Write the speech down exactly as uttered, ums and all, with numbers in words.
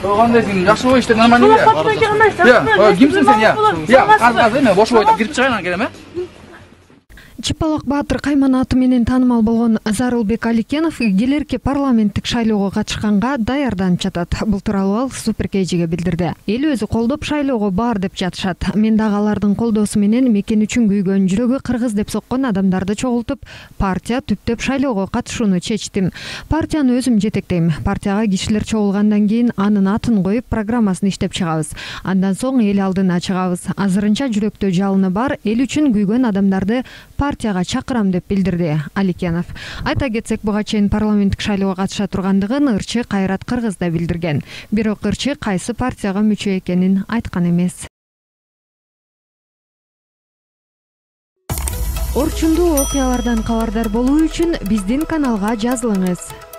Кандай сен жакшы иштер нормально эле. Я, кимсиң сен я? Я, азыр эме бошоп айтып кирип чыгайын анан келем, э? Чыпалак Баатыр Кайман аты менен таанымал болгон Зарылбек Аликенов келерки парламенттик шайлоого катышканга даярданып жатат. Бул тууралуу ал Суперкейжиге билдирди. Эл өзү колдоп шайлоого бар деп жатышат. Мен дагы алардын колдоосу менен мекен үчүн күйгөн, жүрөгү кыргыз деп соккон адамдарды чогултуп, партия түптөп шайлоого катышууну чечтим. Партияны өзүм жетектейм. Партияга кишилер чогулгандан кийин анын атын коюп, программасын иштеп чыгабыз. Андан соң эл алдына чыгабыз. Азырынча жүрөктө жалыны бар, эл үчүн күйгөн адамдарды партияга чакырам деп билдирди Аликенов. Айта кетсек, буга чейин парламенттик шайлоого катыша тургандыгын ырчы Кайрат Кыргыз да билдирген. Бирок ырчы кайсы партияга мүчө экенин айткан эмес. Орчундуу окуялардан кабардар болуу үчүн биздин каналга жазылыңыз.